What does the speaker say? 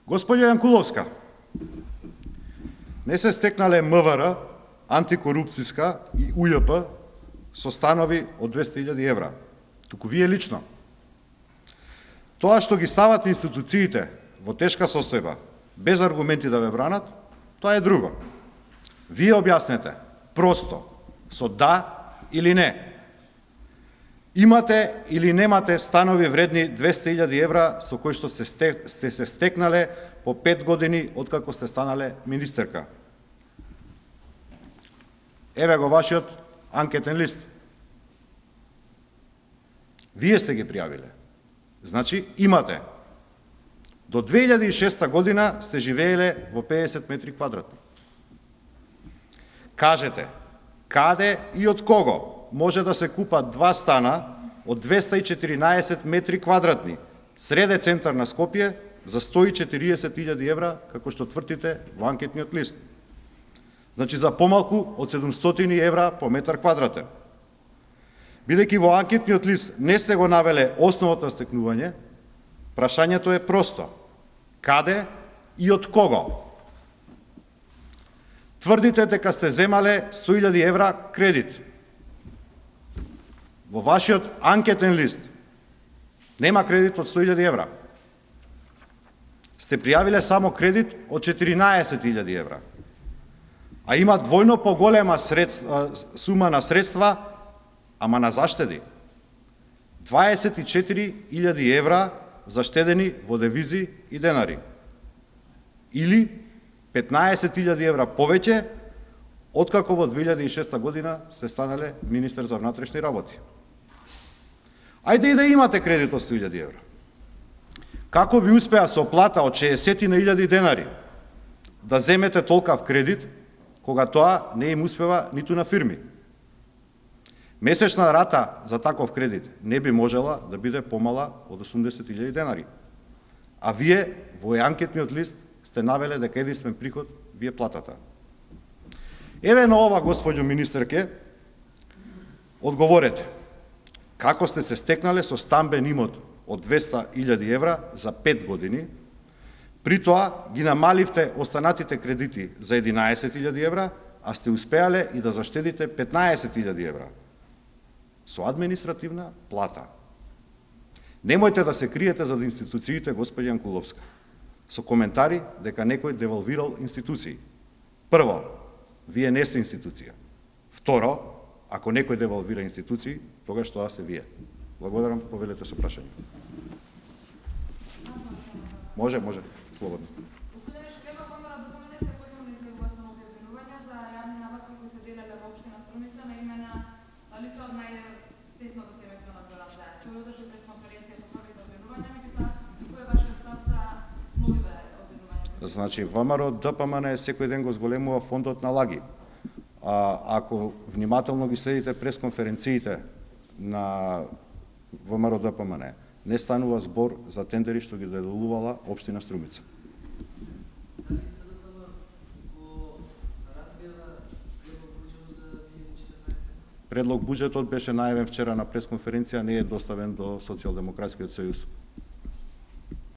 Господја Јанкуловска, не се стекнале МВР, антикорупцијска и УЈП со станови од 200.000 евра, туку вие лично. Тоа што ги ставате институциите во тешка состојба, без аргументи да ве бранат, тоа е друго. Вие објаснете, просто, со да или не. Имате или немате станови вредни 200.000 евра со кои што сте се стекнале по 5 години откако сте станале министерка. Еве го вашиот анкетен лист. Вие сте ги пријавиле. Значи, имате. До 2006 година сте живееле во 50 метри квадратни. Кажете, каде и од кого може да се купат 2 стана од 214 метри квадратни, среде центар на Скопје, за 140.000 евра, како што тврдите во анкетниот лист. Значи, за помалку од 700 евра по метар квадратен. Бидејќи во анкетниот лист не сте го навеле основот на стекнување, прашањето е просто. Каде и од кого? Тврдите дека сте земале 100.000 евра кредит. Во вашиот анкетен лист нема кредит од 100.000 евра. Сте пријавиле само кредит од 14.000 евра. А има двојно поголема сума на средства, ама на заштеди. 24.000 евра заштедени во девизи и денари. Или 15.000 евра повеќе откако во 2006 година сте станале министер за внатрешни работи. Ајде и да имате кредит од 100.000 евра. Како ви успеа со плата од 60.000 денари да земете толкав кредит, кога тоа не им успева ниту на фирми? Месечна рата за таков кредит не би можела да биде помала од 80.000 денари. А вие во анкетниот лист сте навеле дека единствен приход ви е платата. Еве на ова, господјо министерке, одговорете. Како сте се стекнале со стамбен имот од 200.000 евра за 5 години, при тоа ги намаливте останатите кредити за 11.000 евра, а сте успеале и да заштедите 15.000 евра со административна плата. Немојте да се криете зад институциите, господја Јанкуловска, со коментари дека некој девалвирал институции. Прво, вие не сте институција. Второ, ако некој девалвира институции, тогаш тоа сте вие. Благодарам, повелете со прашање. Може, слободно. Значи, ВМРО ДПМН секој ден го зголемува фондот на лаги. Ако внимателно ги следите пресконференциите на ВМРО ДПМН, не станува збор за тендери што ги доделувала општина Струмица. Предлог буџетот беше најавен вчера на пресконференција, не е доставен до Социјалдемократскиот сојуз.